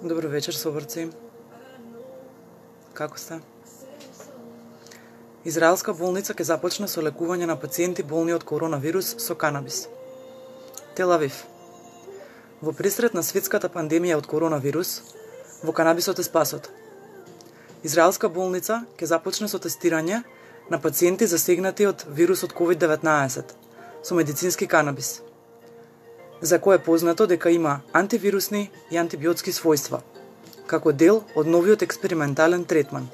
Добро вечер, соборци. Како сте? Израелска болница ќе започне со лекување на пациенти болни од коронавирус со канабис. Тел Авив. Во пресред на светската пандемија од коронавирус, во канабисот е спасот. Израелска болница ќе започне со тестирање на пациенти засегнати од вирусот COVID-19 со медицински канабис, за кој е познато дека има антивирусни и антибиотски својства, како дел од новиот експериментален третман.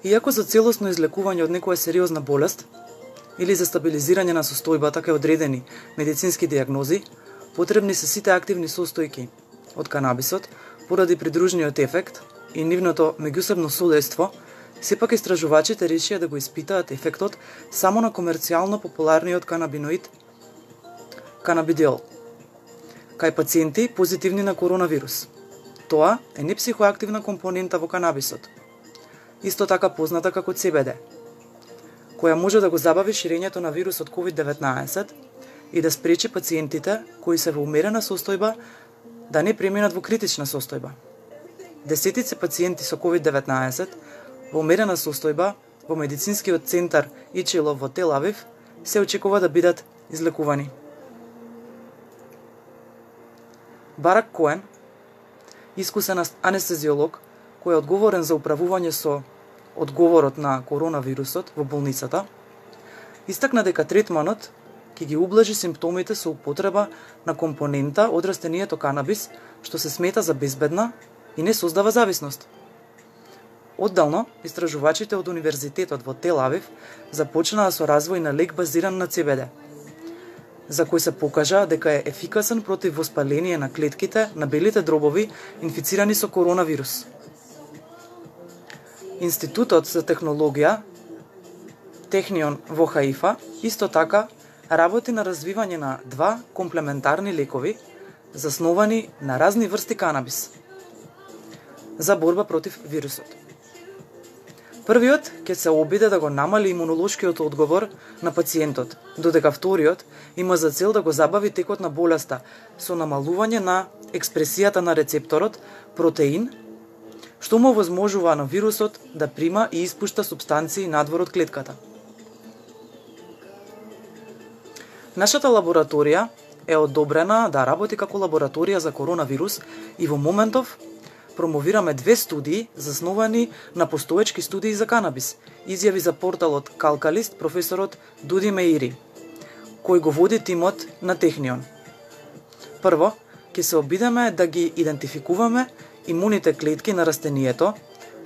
Иако за целосно излекување од некоја сериозна болест или за стабилизирање на состојбата кај одредени медицински диагнози, потребни се сите активни состојки од канабисот поради придружниот ефект и нивното меѓусебно содејство, сепак истражувачите решија да го испитаат ефектот само на комерцијално популарниот канабиноид канабидиол кај пациенти позитивни на коронавирус. Тоа е непсихоактивна компонента во канабисот, исто така позната како CBD, која може да го забави ширењето на вирусот COVID-19 и да спречи пациентите кои се во умерена состојба да не преминат во критична состојба. Десетици пациенти со COVID-19 во умерена состојба во медицинскиот центар Ичилов во Тел Авив се очекува да бидат излекувани. Барак Коен, искусен анестезиолог кој е одговорен за управување со одговорот на коронавирусот во болницата, истакна дека третманот ќе ги ублажи симптомите со употреба на компонента од растението канабис, што се смета за безбедна и не создава зависност. Оддално, истражувачите од Универзитетот во Тел Авив започнаа со развој на лек базиран на CBD, за кој се покажа дека е ефикасен против воспаление на клетките на белите дробови инфицирани со коронавирус. Институтот за технологија Технион во Хаифа исто така работи на развивање на два комплементарни лекови засновани на разни врсти канабис за борба против вирусот. Првиот ќе се обиде да го намали имунолошкиот одговор на пациентот, додека вториот има за цел да го забави текот на болеста со намалување на експресијата на рецепторот протеин, што му овозможува на вирусот да прима и испушта супстанции надвор од клетката. Нашата лабораторија е одобрена да работи како лабораторија за коронавирус и во моментов промовираме две студии засновани на постоечки студии за канабис, изјави за порталот Калкалист професорот Дуди Меири, кој го води тимот на Технион. Прво, ќе се обидеме да ги идентификуваме имуните клетки на растението,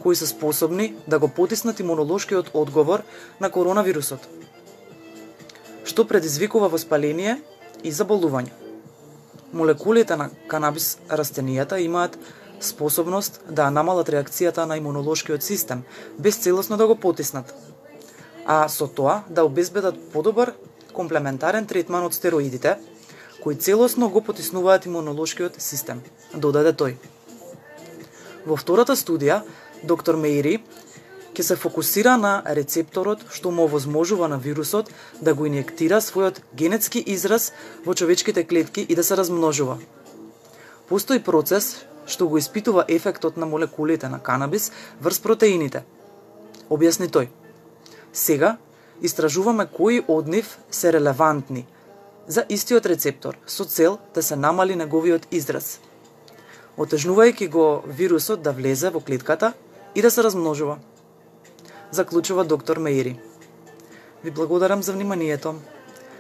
кои се способни да го потиснат имунолошкиот одговор на коронавирусот, што предизвикува воспаление и заболување. Молекулите на канабис растенијата имаат способност да намалат реакцијата на имунолошкиот систем, без целосно да го потиснат, а со тоа да обезбедат подобар комплементарен третман од стероидите, кои целосно го потиснуваат имунолошкиот систем, додаде тој. Во втората студија, доктор Меири ќе се фокусира на рецепторот што му овозможува на вирусот да го инјектира својот генетски израз во човечките клетки и да се размножува. Постои процес што го испитува ефектот на молекулите на канабис врз протеините, објасни тој. Сега истражуваме кои од нив се релевантни за истиот рецептор со цел да се намали неговиот израз, отежнувајќи го вирусот да влезе во клетката и да се размножува, заклучува доктор Меири. Ви благодарам за вниманието.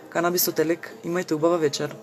Канабисот е лек, имајте убава вечер.